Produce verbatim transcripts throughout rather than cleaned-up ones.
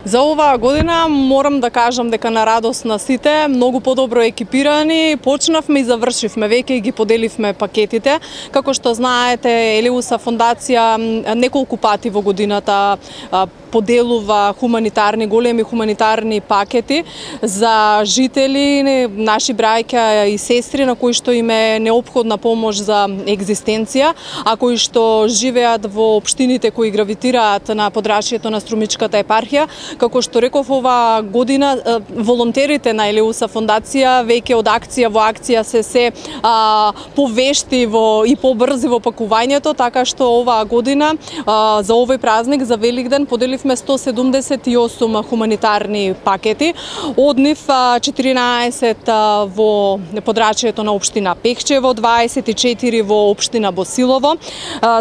За оваа година морам да кажам дека на радост на сите, многу подобро екипирани, почнавме и завршивме, веќе ги поделивме пакетите. Како што знаете, Елеуса фондација неколку пати во годината поделува хуманитарни, големи хуманитарни пакети за жители, наши браќа и сестри на кои што им е неопходна помош за екзистенција, а кои што живеат во општините кои гравитираат на подрачјето на Струмичката епархија. Како што реков, оваа година волонтерите на Елеуса фондација веќе од акција во акција се се а, повешти во и побрзи во пакувањето, така што оваа година а, за овој празник, за Великден, поделивме сто седумдесет и осум хуманитарни пакети, од нив четиринаесет во подрачјето на општина Пехчево, дваесет и четири во општина Босилово,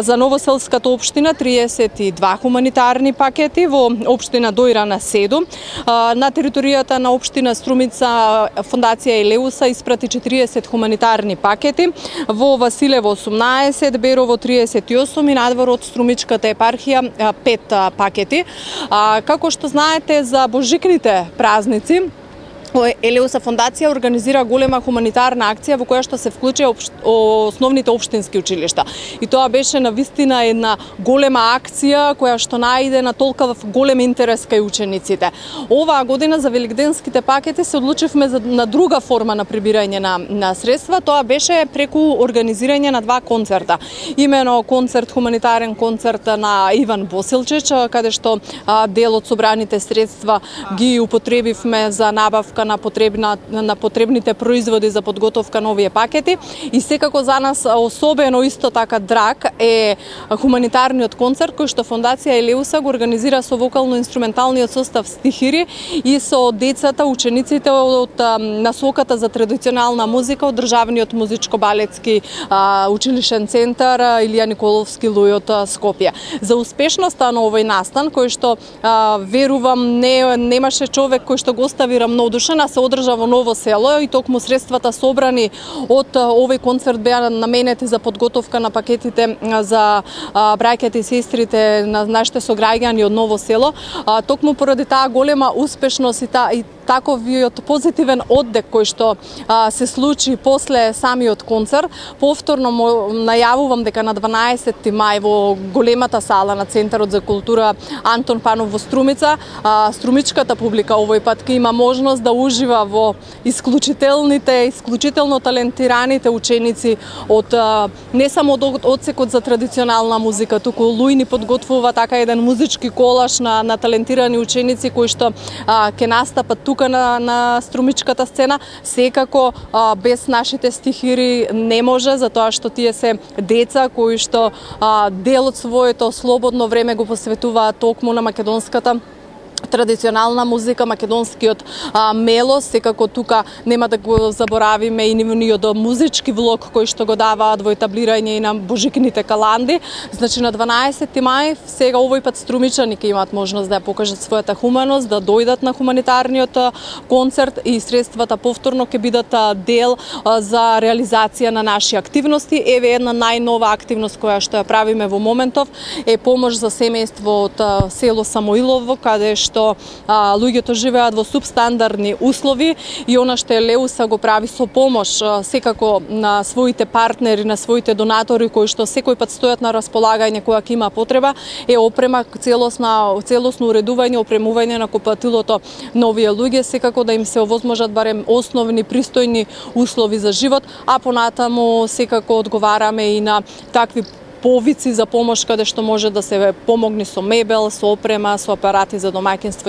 за Новоселската општина триесет и два хуманитарни пакети, во општина Дојрана седум, на територијата на општина Струмица фондација Елеуса испрати четириесет хуманитарни пакети, во Василево осумнаесет, Берово триесет и осум и надвор од Струмичката епархија пет пакети. А, како што знаете, за божикните празници Елеуса фондација организира голема хуманитарна акција во која што се вклучи основните општински училишта. И тоа беше навистина една голема акција која што најде на толкова голем интерес кај учениците. Оваа година за великденските пакети се одлучивме за, на друга форма на прибирање на, на средства. Тоа беше преку организирање на два концерта. Имено концерт, хуманитарен концерт на Иван Босилчич, каде што а, дел од собраните средства ги употребивме за набавка на потребна на потребните производи за подготовка на овие пакети. И секако за нас особено исто така драг е хуманитарниот концерт кој што фондација Елеуса го организира со вокално-инструменталниот состав Стихири и со децата, учениците од насоката за традиционална музика од Државниот музичко-балетски училишен центар Илија Николовски Луј од Скопје. За успешноста на овој настан, кој што а, верувам не немаше човек кој што го остави рамнодушен, се одржа во Ново село и токму средствата собрани од овој концерт беа наменети за подготовка на пакетите за браќите и сестрите на нашите сограѓани од Ново село. Токму поради таа голема успешност и, та, и таковиот позитивен оддек кој што а, се случи после самиот концерт, повторно му најавувам дека на дванаесети мај во големата сала на Центарот за култура Антон Панов во Струмица, а, струмичката публика овој пат ќе има можност да ужива во исклучителните, исклучително талентираните ученици од а, не само од одсекот за традиционална музика, туку Луј ни подготвува така еден музички колаж на, на талентирани ученици кои што а, ќе настапат тука на, на струмичката сцена. Секако а, без нашите стихири не може, затоа што тие се деца кои што а, дел од своето слободно време го посветуваат токму на македонската традиционална музика, македонскиот а, мелос. Секако тука нема да го заборавиме и нивниот музички влог кој што го даваат во етаблирање и на божикните каланди. Значи на дванаесети мај сега овој пат струмичани ќе имаат можност да ја покажат својата хуманост, да дојдат на хуманитарниот концерт и средствата повторно ќе бидат дел а, за реализација на наши активности. Еве една најнова активност која што ја правиме во моментов е помош за семејство од а, село Самоилово, каде што што а, луѓето живеат во субстандардни услови и она што Елеуса го прави со помош а, секако на своите партнери, на своите донатори кои што секој пат стојат на располагање кога ќе има потреба, е опрема, целосна, целосно уредување, опремување на купатилото на овие луѓе, секако да им се овозможат барем основни пристојни услови за живот, а понатаму секако одговараме и на такви повици за помош каде што може да се помогне со мебел, со опрема, со апарати за домаќинство.